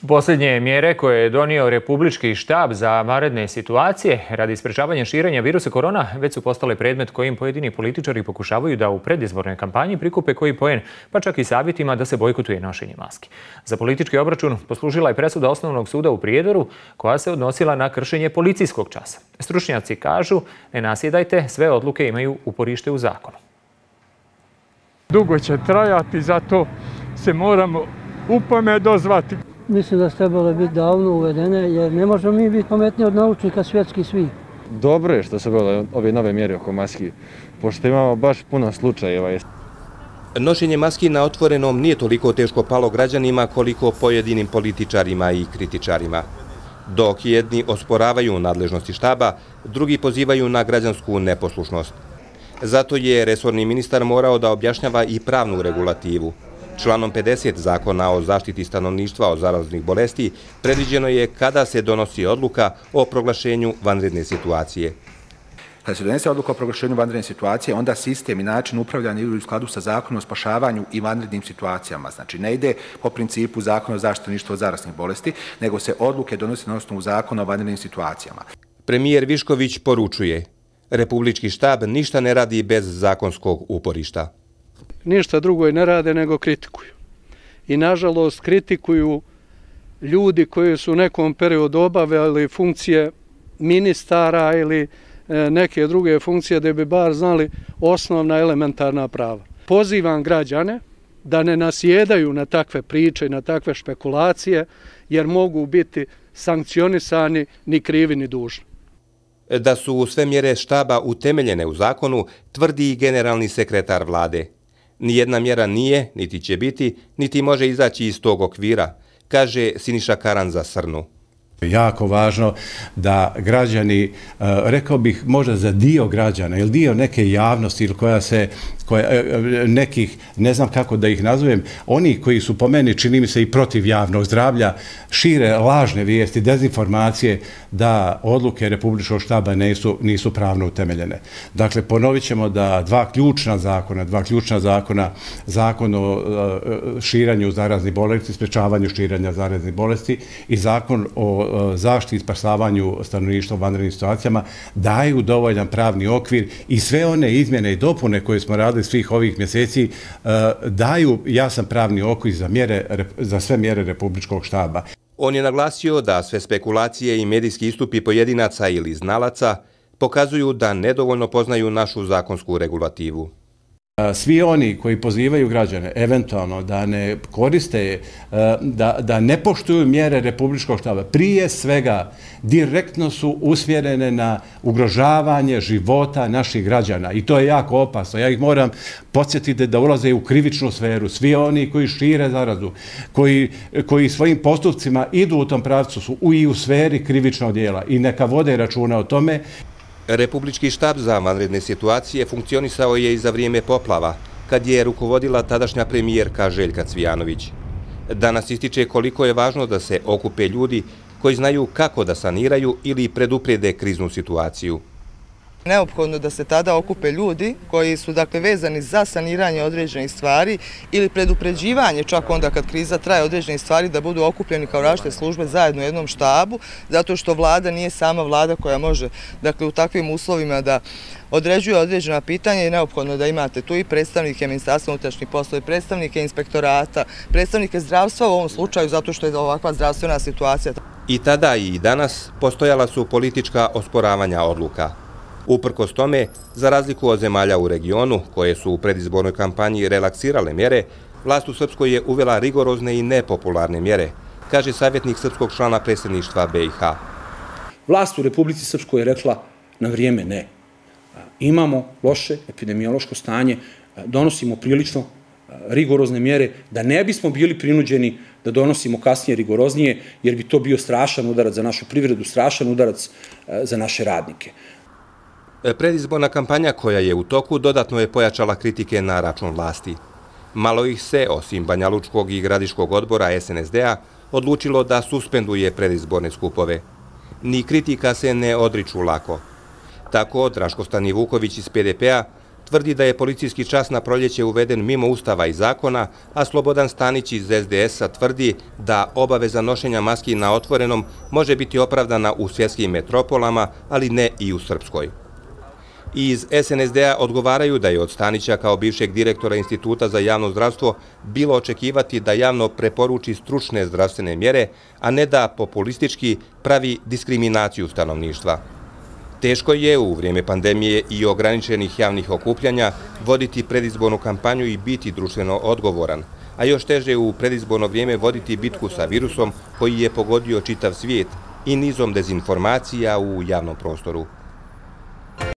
Posljednje mjere koje je donio Republički štab za vanredne situacije radi sprečavanja širenja virusa korona već su postale predmet kojim pojedini političari pokušavaju da u predizbornoj kampanji prikupe koji poen, pa čak i savjetima da se bojkotuje nošenje maski. Za politički obračun poslužila je presuda Osnovnog suda u Prijedoru koja se odnosila na kršenje policijskog časa. Stručnjaci kažu, ne nasjedajte, sve odluke imaju uporište u zakonu. Dugo će trajati, zato se moramo upome dozvati. Mislim da su trebale biti davno uvedene, jer ne možemo mi biti pametniji od naučnika svjetski svi. Dobro je što su bile ove nove mjere oko maski, pošto imamo baš puno slučajeva. Nošenje maski na otvorenom nije toliko teško palo građanima koliko pojedinim političarima i kritičarima. Dok jedni osporavaju nadležnosti štaba, drugi pozivaju na građansku neposlušnost. Zato je resorni ministar morao da objašnjava i pravnu regulativu. Članom 50 Zakona o zaštiti stanovništva od zaraznih bolesti predviđeno je kada se donosi odluka o proglašenju vanredne situacije. Kada se donese odluka o proglašenju vanredne situacije, onda sistem i način upravljanja idu u skladu sa Zakonom o spašavanju i vanrednim situacijama. Znači, ne ide po principu Zakona o zaštiti stanovništva od zaraznih bolesti, nego se odluke donose na osnovu Zakona o vanrednim situacijama. Premijer Višković poručuje, Republički štab ništa ne radi bez zakonskog uporišta. Ništa drugo ne rade nego kritikuju. I nažalost kritikuju ljudi koji su u nekom periodu obavljali funkcije ministara ili neke druge funkcije da bi bar znali osnovna elementarna prava. Pozivam građane da ne nasjedaju na takve priče i na takve špekulacije jer mogu biti sankcionisani ni krivi ni dužni. Da su sve mjere štaba utemeljene u zakonu, tvrdi i generalni sekretar vlade. Nijedna mjera nije, niti će biti, niti može izaći iz tog okvira, kaže Siniša Karan za Srnu. Jako važno da građani, rekao bih možda za dio građana ili dio neke javnosti ili nekih, ne znam kako da ih nazovem, oni koji su po meni, čini mi se, i protiv javnog zdravlja, šire lažne vijesti, dezinformacije da odluke Republičkog štaba nisu pravno utemeljene. Dakle, ponovit ćemo da dva ključna zakona, zakon o širanju zaraznih bolesti, sprečavanju širenja zaraznih bolesti i zakon o zaštiti i spašavanju stanovništva u vanrednim situacijama daju dovoljan pravni okvir i sve one izmjene i dopune koje smo radili svih ovih mjeseci daju jasan pravni okvir za sve mjere Republičkog štaba. On je naglasio da sve spekulacije i medijski istupi pojedinaca ili znalaca pokazuju da nedovoljno poznaju našu zakonsku regulativu. Svi oni koji pozivaju građane eventualno da ne koriste, da ne poštuju mjere Republičkog štaba, prije svega direktno su usmjerene na ugrožavanje života naših građana i to je jako opasno. Ja ih moram podsjetiti da ulaze u krivičnu sferu. Svi oni koji šire zarazu, koji svojim postupcima idu u tom pravcu su i u sferi krivičnog djela i neka vode računa o tome. Republički štab za vanredne situacije funkcionisao je i za vrijeme poplava, kad je rukovodila tadašnja premijerka Željka Cvijanović. Danas ističe koliko je važno da se okupe ljudi koji znaju kako da saniraju ili preduprede kriznu situaciju. Neophodno da se tada okupe ljudi koji su vezani za saniranje određenih stvari ili predupređivanje čak onda kad kriza traje određenih stvari da budu okupljeni kao različite službe zajedno u jednom štabu, zato što vlada nije sama vlada koja može u takvim uslovima da određuje određena pitanja i neophodno da imate tu i predstavnike Ministarstva unutrašnjih poslova, predstavnike inspektorata, predstavnike zdravstva u ovom slučaju zato što je ovakva zdravstvena situacija. I tada i danas postojala su politička osporavanja odluka. Uprkos tome, za razliku od zemalja u regionu, koje su u predizbornoj kampanji relaksirale mjere, vlast u Srpskoj je uvela rigorozne i nepopularne mjere, kaže savjetnik srpskog člana predsjedništva BiH. Vlast u Republici Srpskoj je rekla na vrijeme ne. Imamo loše epidemiološko stanje, donosimo prilično rigorozne mjere, da ne bismo bili prinuđeni da donosimo kasnije rigoroznije, jer bi to bio strašan udarac za našu privredu, strašan udarac za naše radnike. Predizborna kampanja koja je u toku dodatno je pojačala kritike na račun vlasti. Malo ih se, osim Banjalučkog i Gradiškog odbora SNSD-a, odlučilo da suspenduje predizborne skupove. Ni kritika se ne odriču lako. Tako Draško Stanivuković iz PDP-a tvrdi da je policijski čas na proljeće uveden mimo Ustava i zakona, a Slobodan Stanić iz SDS-a tvrdi da obaveza nošenja maski na otvorenom može biti opravdana u svjetskim metropolama, ali ne i u Srpskoj. Iz SNSD-a odgovaraju da je od Stanića kao bivšeg direktora Instituta za javno zdravstvo bilo očekivati da javno preporuči stručne zdravstvene mjere, a ne da populistički pravi diskriminaciju stanovništva. Teško je u vrijeme pandemije i ograničenih javnih okupljanja voditi predizbornu kampanju i biti društveno odgovoran, a još teže u predizborno vrijeme voditi bitku sa virusom koji je pogodio čitav svijet i nizom dezinformacija u javnom prostoru.